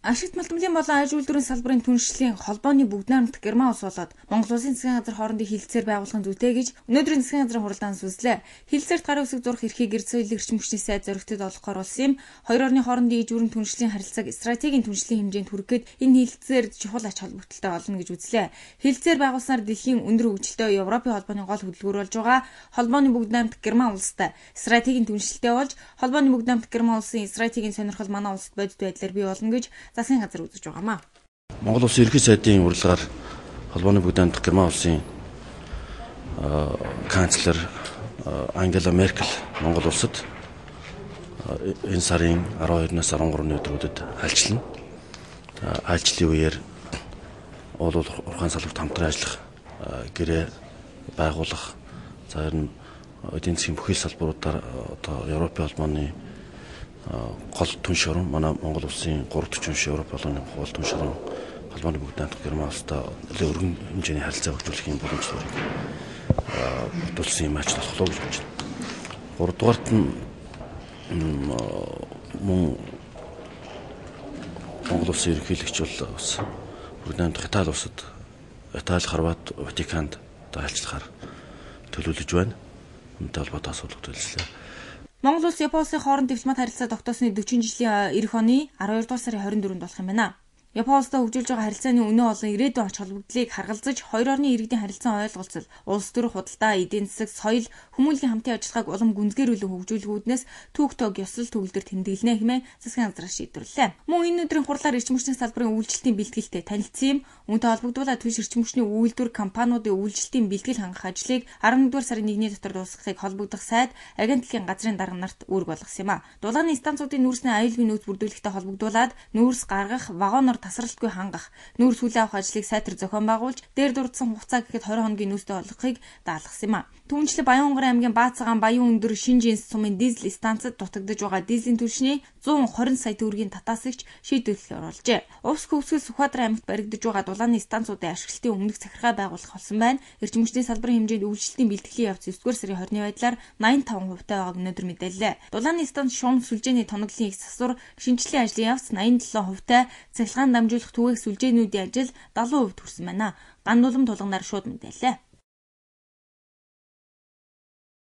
Ашигт малтмлын болон аж үйлдвэрийн салбарын түншлэлийн холбооны бүгд найрамдах Герман улс болоод Монгол улсын засгийн газар хоорондын хилцээр байгуулахын зүйтэй гэж өнөөдрийн засгийн газрын хуралдаан сүслээ. Хилцээрт гарын үсэг зурх эрхийг эрх соёлын эрчим хүчний сайд зоригтод олгохоор болсон юм. Хоёр орны хоорондын иж бүрэн түншлэлийн харилцааг стратегийн түншлэлийн хэмжээнд хүргэхэд энэ хилцээр чухал ач холбогдолтой болно гэж үзлээ. Хилцээр байгуулснаар дэлхийн өндөр хөгжилтэй Европын холбооны гол хөдөлгөөр болж байгаа холбооны бүгд найрамдах Герман улстай стратегийн түншлэлтэй болж холбооны бүгд найрамдах Герман улсын стратегийн сонирхол манай улсад бодит байдлаар бий болно гэж засгийн газар үзэж байгаамаа. Монгол улсын ерөнхий сайдын урилгаар холбооны бүгд найрамдах Герман улсын канцлер Ангела Меркель Монгол улсад энэ сарын 12-наас 13-ны өдрүүдэд альчлана. Альчлалын үеэр уул уурхайн салбарт хамтран ажиллах, гэрээ байгуулах, за ер нь эдийн засгийн бүхэл салбаруудаар одоо Европын холбооны гол түн шорон манай Монгол улсын 340 Европ холбооны гол түн шорон холбооны бүгд найрамдах Герман улстай өргөн хэмжээний харилцаа хөгжүүлэхийн боломжлолыг бүрдүүлсэн юм ач болохлоо гэж бодож байна. Гуравдугаарт нь Монгол улсын ерөнхийлөгч бол бас бүгд найрамдах Итали улсад Итали, Хорват, Ватиканд айлчлахаар төлөвлөж байна. Үүнтэй холбоотой асуудал төлөвлөсөн. Монгол улс Япон улсын хооронд дипломат харилцаа тогтоосны 40 жилийн эх оны 12 дугаар сарын 24-нд болох юм байна. Япон улстай хөгжүүлж байгаа харилцааны өнөө олон ирээдүйн ач холбогдлыг харгалзаж хоёр орны иргэдийн харилцаан ойлголцол, улс төрийн худалдаа, эдийн засаг, соёл, хүмүүнлэгийн хамтын ажиллагааг улам гүнзгийрүүлэн хөгжүүлэхүүднээс түүх тог ёслол төгөлдөр тэмдэглэнэ хэмээн засгийн газар шийдвэрлэлээ. Мөн энэ өдрийн хурлаар эрчим хүчний салбарын үйлчлэлтийн бэлтгэлтэй танилцсан юм. Үүнтэй холбогдуулаад түнш эрчим хүчний үйлдвэр компаниудын үйлчлэлтийн бэлтгэл хангах ажлыг 11-р сарын 1-ний дотор дуусгахыг холбогдох сайд агентлагийн газрын дарга нарт үүрэг болгосон юм а. Дулааны станцуудын нүүрсний аюулгүй нөөц бүрдүүлэхтэй холбогдуулаад нүүрс гаргах, вагоноор тасралтгүй хангах, нүүрс хүлээ авах ажлыг сайтар зохион байгуулж, дээр дурдсан хугацаа гэхэд 20 хоногийн нүүстэй болгохыг даалгасан юм а. Түүнчлэн Баян-Онгорын аймгийн Баацагаан Баян өндөр Шинжинс сумын дизель станцад дутагдж байгаа дизелийн түлшний 120 сая төгрөгийн татаасагч шийдвэрлэлээр оруулжээ. Увс хөвсгөл Сүхбаатар аймагт баригдаж байгаа дулааны станцуудын ашиглалтын өмнөх захиргаа байгуулах болсон байна. Эрчим хүчний салбарын хэмжээнд үйлчлэлтийн бэлтгэлийн явц 9-р сарын 20-ны байдлаар 85% байгааг өнөөдөр мэдээллээ. Дулааны станц шуум сүлжээний тоноглолын их засвар шинжилгээ ажлын явц 87%, цахилгаан дамжуулах түгээх сүлжээнүүдийн ажил 70% хүрсэн байна. Ган нулам тулганаар шууд мэдээллээ.